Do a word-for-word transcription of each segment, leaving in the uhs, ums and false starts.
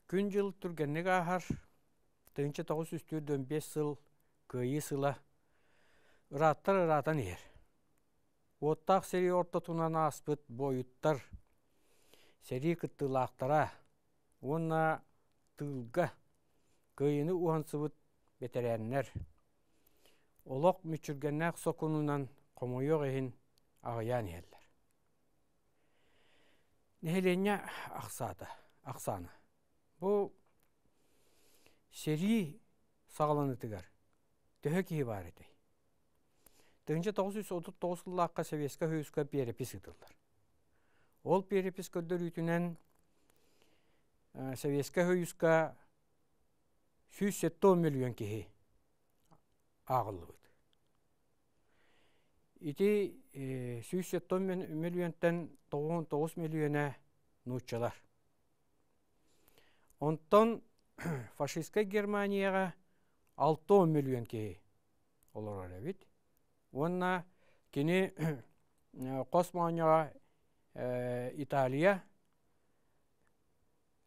Күн-дьыл түргэнник ааһар, тыһыынча тоҕус сүүс түөрт уон биэс сыл Кыайыы сыла ырааттар ыраатан иһэр. Уоттаах сэрии ортотунан ааспыт буойуттар, сэрии кыттыылаахтара уонна тыылга Кыайыыны уһансыбыт бэтэрээннэр олох мүччүргэннээх сокуонунан хомойуох иһин аҕыйаан иһэллэр. Нэһилиэнньэ ахсаата, ахсаана. Бу сэрии саҕаланыытыгар төһө киһи баар этэй? Тыһыынча тоҕус жүз отут тоҕус сыллаахха Советскай Союзка перепись ыытыллар. Ол перепись көрдөрүүтүнэн Советскай Союзка сүүс сэттэ уон миллион киһи ааҕыллыбыт. Ити сүүс сэттэ уон миллионтан тоҕус уон тоҕус миллиона нууччалар. Онтон фашистскай Германияҕа алта уон миллион киһи олорор эбит. Уонна кини хос моонньоҕо Италия,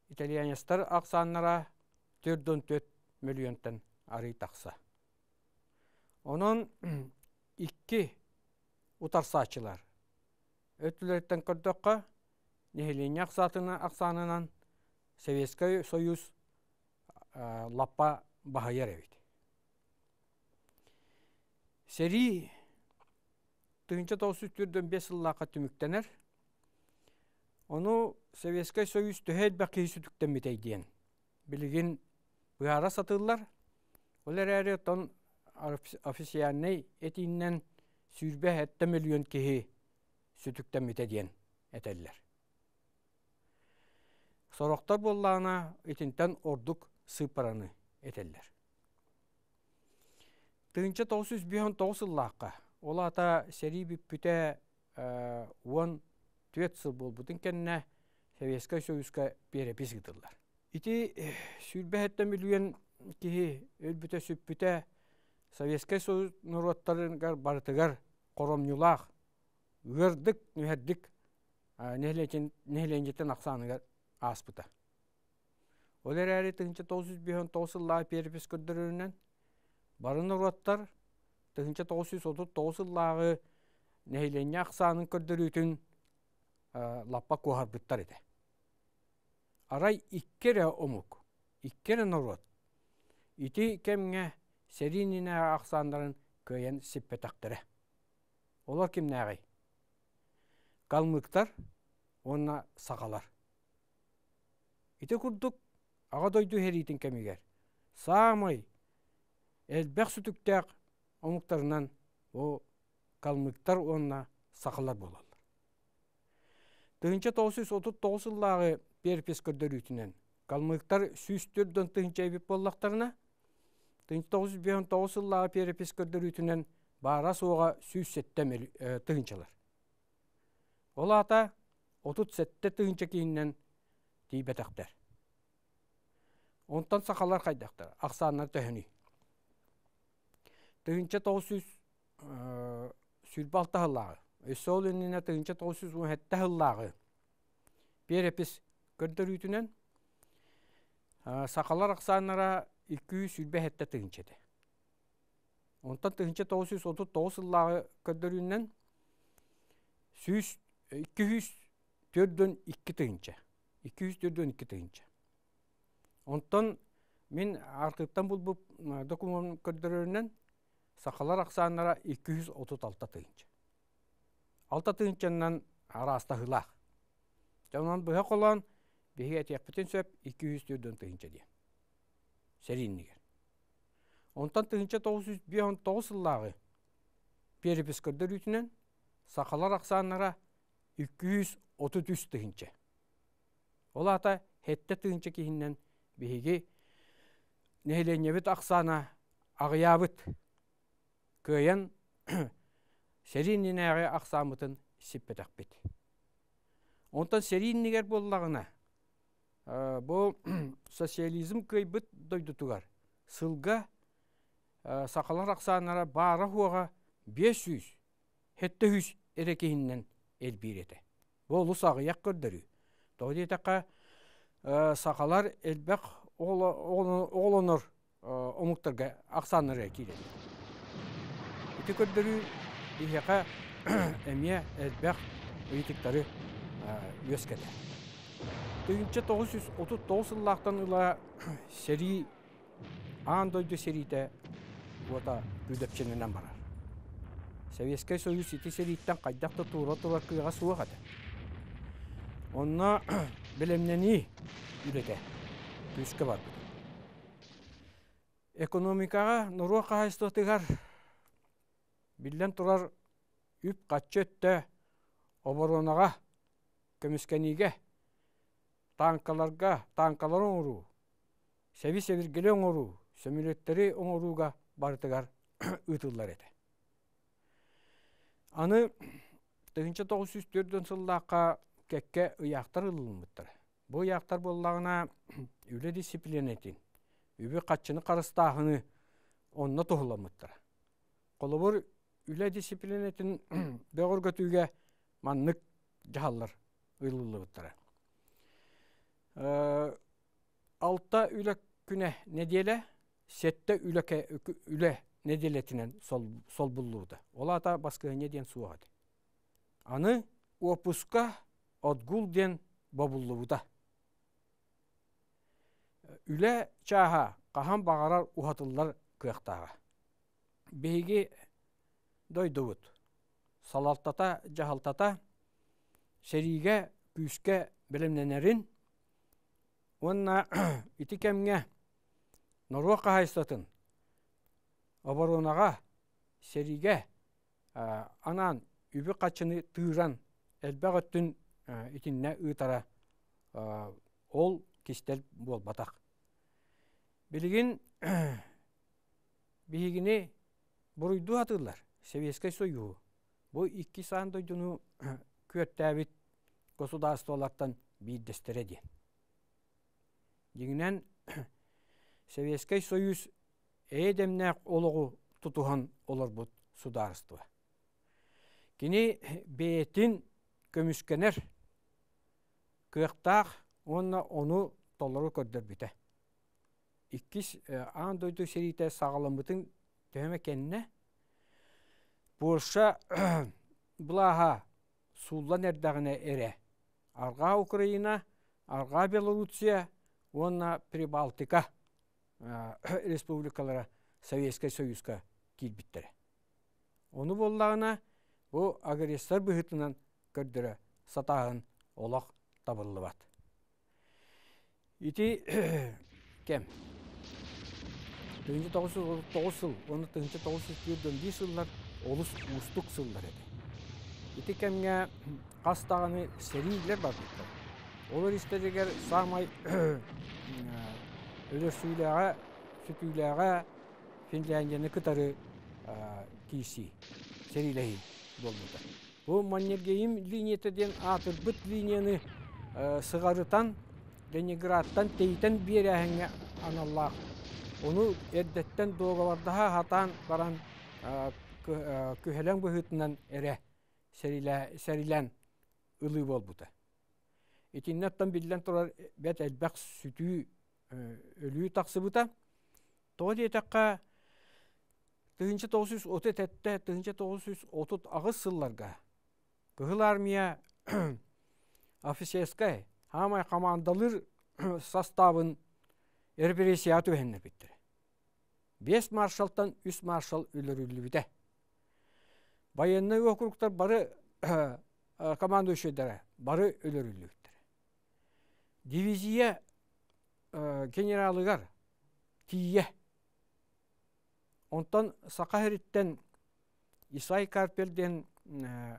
итальянецтар ахсааннара төрт уон төрт миллионтан арый тахса. Онон икки утарсааччылар өттүлэриттэн көрдөххө, нэһилиэнньэ ахсаанынан Советскай Союз лаппа баһыйар эбит. Сэрии тыһыынча тоҕус жүз төрт уон биэс сыллаахха түмүктэнэр. Ону Советскай Союз төһө элбэх киһи сүтүктэммитэй диэн билигин быһаара сатыыллар. Ол эрээри оттон официальнай этиинэн сүүрбэ сэттэ миллион киһи сүтүктэммитэ диэн этэллэр. Сорохтор буоллаҕына итинтэн ордук сыыппараны этэллэр. Тыһыынча тоҕус жүз биэс уон тоҕус сыллаахха, ол аата сэрии бүппүтэ уон түөрт сыл буолбутун кэннэ Советскай Союзка перепись ыытыллар. Ити сүүрбэ сэттэ миллион киһи өлбүтэ сүппүтэ Советскай Союз норуоттарыгар барытыгар хоромньулаах, ыардык, нүһэрдик нэһилиэнньэтин ахсааныгар ааспыта. Ол эрээри тыһыынча тоҕус жүз биэс уон тоҕус сыллааҕы перепись көрдөрөрүнэн бары норуоттар тыһыынча тоҕус жүз отут тоҕус сыллааҕы нэһилиэнньэ ахсаанын көрдөрүүтүн лаппа куоһарбыттар этэ. Арай икки эрэ омук, икки эрэ норуот ити кэмҥэ сэрии иннинээҕи ахсааннарын кыайан сиппэтэхтэрэ. Олор кимнээҕий? Калмыктар уонна сахалар. Ити курдук Аҕа дойду сэриитин кэмигэр саамай элбэх сүтүктээх омуктарынан бу калмыктар уонна сахалар буолаллар. Тыһыынча тоҕус жүз отут тоҕус сыллааҕы перепись көрдөрүүтүнэн калмыктар сүүс төрт уон тыһыынча эбит буоллахтарына, тыһыынча тоҕус жүз биэс уон тоҕус сыллааҕы перепись көрдөрүүтүнэн баара-суоҕа сүүс сэттэ тыһыынчалар. Ол аата отут сэттэ тыһыынча киһинэн тиийбэтэхтэр. Онтон сахалар хайдахтар? Ахсааннар төһөнүй? Тыһыынча тоҕус жүз сүүрбэ алта сыллааҕы, өссө ол иннинэ тыһыынча тоҕус жүз уон сэттэ сыллааҕы перепись көрдөрүүтүнэн сахалар ахсааннара икки жүз сүүрбэ сэттэ тыһыынча этэ. Онтон тыһыынча тоҕус жүз отут тоҕус сыллааҕы көрдөрүүнэн сүүс икки жүз төрт уон икки тыһыынча. Икки жүз төрт уон икки тыһыынча. Онтон мин архыыптан булбут докумуон көрдөрөрүнэн сахалар ахсааннара икки жүз отут алта тыһыынча. Алта тыһыынчанан араастаһыылаах. Онон быһа холоон биһиги этиэхпитин сөп икки жүз төрт уон тыһыынча диэн. Сэрии иннигэр. Онтон тыһыынча тоҕус жүз биэс уон тоҕус сыллааҕы перепись көрдөрүүтүнэн сахалар ахсааннара икки жүз отут үс тыһыынча. Ол аата сэттэ тыһыынча киһинэн биһиги нэһилиэнньэбит ахсаана аҕыйаабыт. Кыайан сэрии иннинээҕи ахсааммытын сиппэтэхпит. Онтон сэрии иннигэр буоллаҕына бу социализм кыайбыт дойдутугар сылга сахалар ахсааннара баара-суоҕа биэс сүүс, сэттэ сүүс эрэ киһинэн элбиир этэ. Бу олус аҕыйах көрдөрүү. Тоҕо диэтэххэ, Сахалар элбэх оҕолонор омуктарга ахсааннарыгар киирэллэр. Ити көрдөрүү биһиэхэ эмиэ элбэх ыйытыктары үөскэтэр. Тыһыынча тоҕус жүз отут тоҕус сыллаахтан ыла сэрии, аан дойду сэриитэ уота күүдэпчилэнэн барар. Советскай Союз ити сэрииттэн хайдах да туора турар кыаҕа суох этэ. Онно бэлэмнэнии үлэтэ күүскэ барбыта. Экономикаҕа, норуот хаһаайыстыбатыгар биллэн турар үп-харчы өттө оборонаҕа, көмүскэниигэ, тааҥкаларга, тааҥкалары оҥоруу, сэби-сэбиргэли оҥоруу, сөмөлүөттэри оҥорууга барытыгар ыытыллар этэ. Аны тыһыынча тоҕус сүүс төрт сыллаахха кэккэ ыйаахтар ылыллыбыттара. Бу ыйаахтар буоллаҕына үлэ дисциплинэтин, үбү-харчыны харыстааһыны онно туһуламмыттара. Холобур, үлэ дисциплинэтин бөҕөргөтүүгэ маннык дьаһаллар ылыллыбыттара. Алта үлэ күнэ нэдиэлэ, сэттэ үлэ, үлэ нэдиэлэтинэн солбуллубута. Ол аата баскыһыанньа диэн суох этэ. Аны уоппуска, отгул диэн бобуллубута. Үлэ чааһа хаһан баҕарар уһатыллар кыахтааҕа. Биһиги дойдубут салалтата, дьаһалтата сэриигэ күүскэ бэлэмнэнэрин уонна ити кэмҥэ норуот хаһаайыстыбатын оборонаҕа, сэриигэ анаан үбү-харчыны тыыран элбэх өттүн итиннэ ыытара ол кистэл буолбатах. Билигин биһигини буруйдуу сатыыллар Советскай Союһу. Бу иккис аан дойдуну күөртээбит государстволартан биирдэстэрэ диэн. Дьиҥинэн Советскай Союз эйэ-дэмнээх олоҕу тутуһан олорбут судаарыстыба. Кини бэйэтин көмүскэнэр кыахтаах уонна ону толору көрдөрбүтэ. Иккис аан дойду сэриитэ саҕаламмытын төһө кэннэ Польша былааһа сууллан эрдэҕинэ эрэ Арҕаа Украина, Арҕаа Белоруссия уонна Прибалтика республикалара Советскай Союзка киирбиттэрэ. Ону буоллаҕына бу агрессор быһыытынан көрдөрө сатааһын олох табыллыбат. Ити кэм тыһыынча тоҕус жүз тоҕус сыл уонна тыһыынча тоҕус жүз түөрт биир сыллар олус уустук сыллар этэ. Ити кэмҥэ хас даҕаны сэриилэр барбыттар. Олор истэригэр саамай өлөрсүүлээҕэ, сүтүүлээҕэ Финляндияны кытары киирсии, сэриилэһии буолбута. Бу Маннергейм линията диэн аатырбыт линияны сыҕарытан, Ленинградтан тэйитэн биэрээһиҥҥэ аналлаах. Ону эрдэттэн дуогабардаһа сатаан баран күһэлэҥ быһыытынан эрэ сэриилээн ылыы буолбута. Итиннэттэн биллэн турар бэрт элбэх сүтүү өлүү тахсыбыта. Тоҕо диэтэххэ тыһыынча тоҕус жүз отут сэттэ тыһыынча тоҕус жүз отут аҕыс сылларга Кыһыл Армия офицерскай хаамай командалыыр составын репрессияҕа түбэһиннэрбиттэрэ. Биэс маршалтан үс маршал өлөрүллүбүтэ. Военнай округтар бары командующайдара бары өлөрүллүбүттэрэ. Дивизия генералыгар тиийэ. Онтон Саха сириттэн Исай Карпел диэн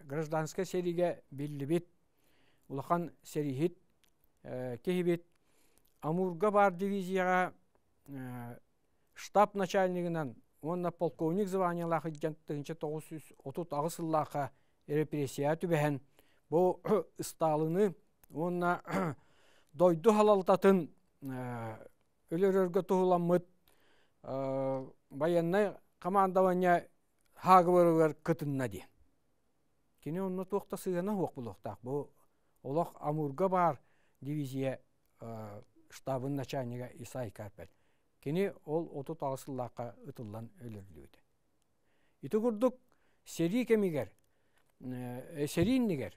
гражданскай сэриигэ биллибит улахан сэрииһит киһибит Амурга баар дивизияҕа штаб начальнигынан уонна полковник званиелаах илдьэн тыһыынча тоҕус жүз отут аҕыс сыллаахха репрессияҕа түбэһэн бу Сталины уонна дойду халалтатын өлөрөргө туһуламмыт военнай командование сговорыгар кытынна диэн. Кини онно туох да сыһыана суох буолуохтаах. Бу олох Амурга баар дивизия штабын начальнига Исай Карпель. Кини ол отут аҕыс сыллаахха ытыллан өлөрүллүбүтэ. Ити курдук сэрии кэмигэр, сэрии иннигэр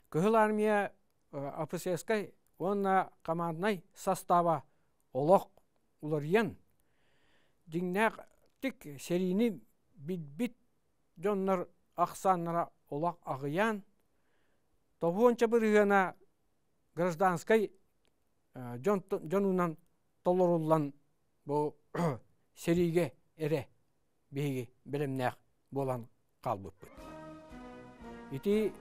Кыһыл Армия офицерскай уонна команднай состава олох уларыйан, дьиҥнээхтик сэриини билбит дьоннор ахсааннара олох аҕыйаан, тоҕуонча бырыһыана гражданскай дьон дьонунан толоруллан бу сэриигэ эрэ биһиги бэлэмнээх буолан хаалбыппыт. Ити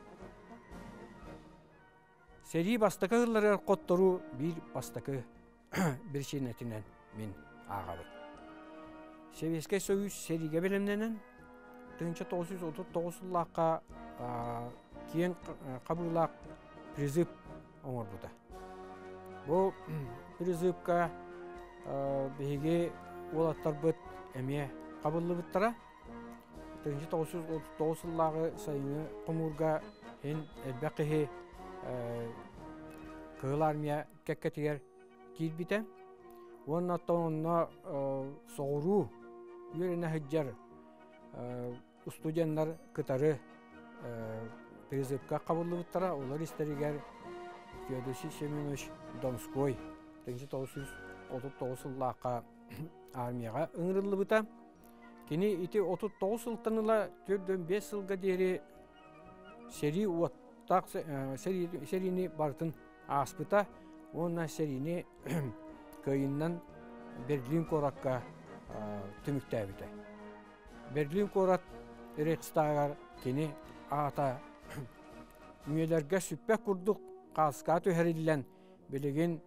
сэрии бастакы сылларыгар хотторуу биир бастакы биричиинэтинэн мин ааҕабын. Советскай Союз сэриигэ бэлэмнэнэн тыһыынча тоҕус жүз отут тоҕус сыллаахха киэҥ хабыылаах призыв оҥорбута. Бу призывка биһиги уолаттарбыт эмиэ хабыллыбыттара. Тыһыынча тоҕус жүз отут тоҕус сыллааҕы сайыҥҥы хомуурга ин элбэх киһи Кыһыл Армия кэккэтигэр киирбитэ. Уонна онно соҕуруу үөрэнэ сылдьар студеннар кытары призывка хабыллыбыттара. Олор истэригэр Феодосий Семенович Донской тыһыынча тоҕус жүз отут тоҕус сыллаахха армияҕа ыҥырыллыбыта. Кини ити отут тоҕус сылтан ыла түөрт уон биэс сылга диэри сэрии уоттаах сэриини барытын ааспыта уонна сэриини кыайыынан Берлин куоракка түмүктээбитэ. Берлин куорат Рейхстагар кини аата үйэлэргэ сүппэт курдук хааска түһэриллэн билигин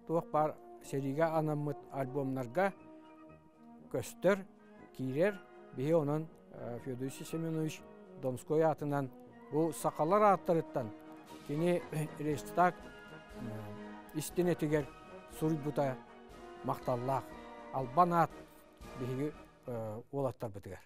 туох баар сэриигэ анаммыт альбомнарга көстөр, киирэр. Биһи онон Феодосий Семенович Донской аатынан бу сахалар ааттарыттан кини Рейхстаг истинэтигэр суруйбута махталлаах албан аат биһиги уолаттарбытыгар.